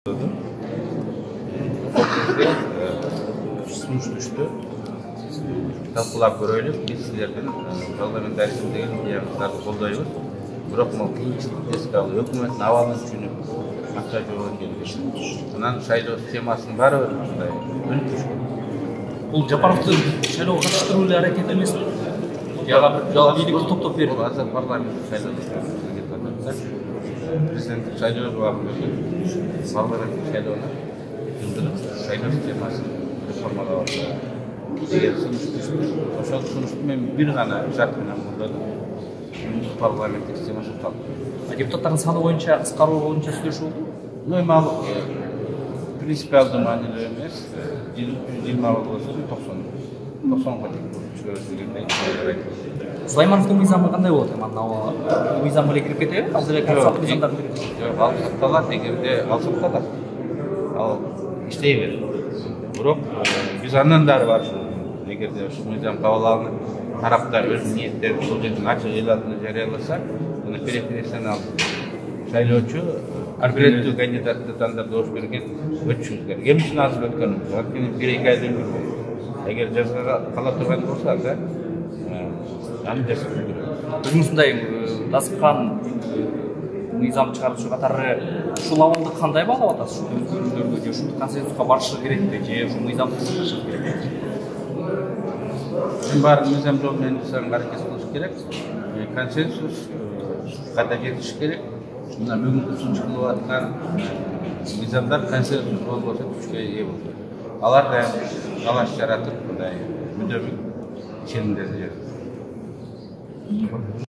Сунуш түштү. Талкуулап көрөлүк. Биз силердин парламентаризм деген идеяңыздарды колдойбуз. Бирок могу кыйынчылыкты эске алып, өкмөттүн абалын түшүнүп, максат жолун келгиле. Анан шайлоо системасын баары мындай өнүктүрүш. Бул Жапаровдун шайлоого катыштыруу эле аракет эмеспи? Жала бийликти топтоп берип. Бул азыр парламент шайлоо. Президенттик шайлоо убагында парламенттик шайлоону шайлоо системасын реформалап атат. Эгер сунуш түштү, ошол сунушту мен бир гана шарт менен колдодум. Парламенттик система сакталды. Депутаттардын саны боюнча кыскаруу боюнча сүйлөшүү болду. Эми принципиалдуу маанилүү эмес. 120 болсо 90 чыгарылат. Сулаймановдун мыйзамы кандай болот? Анан мыйзам эле кирип кетеби? Азыр эле калса мыйзамдар кирип. Жок, ал сакталат, эгерде ал сакталат. Ал иштей берет. Бирок биз андан дары бар. Эгерде ушул мыйзам кабыл алынып, тараптар өз ниеттерин бул жерден ачык эл алдында жарыяласа, аны преференциялык шайлоочу арбитраттуу кандидатты тандап добуш берген өтүшүбүз керек. Эмне үчүн азыр өткөнүбүз? Анткени 1-2 айда үлгүрбөйт. Эгер жазга кала турган болсо анда аны жасап үлгүрөбүз. Өзүңүздай даскан мыйзам чыгаруучу катары ушул абалды кандай баалап атасыз? Ушул өзгөрүүлөргө же ушул консенсуска барышы керекпи, же ушул мыйзамды сакташы керекпи? Баарын мыйзам жолу менен жасаганга аракет кылыш керек. Консенсус кайда жетиш керек. Мына бүгүнкү сунуш кылып аткан мыйзамдар консенсус болбосо күчкө ээ болот. Алар да талаш жаратып, мындай мүдөмүн ченемдерди.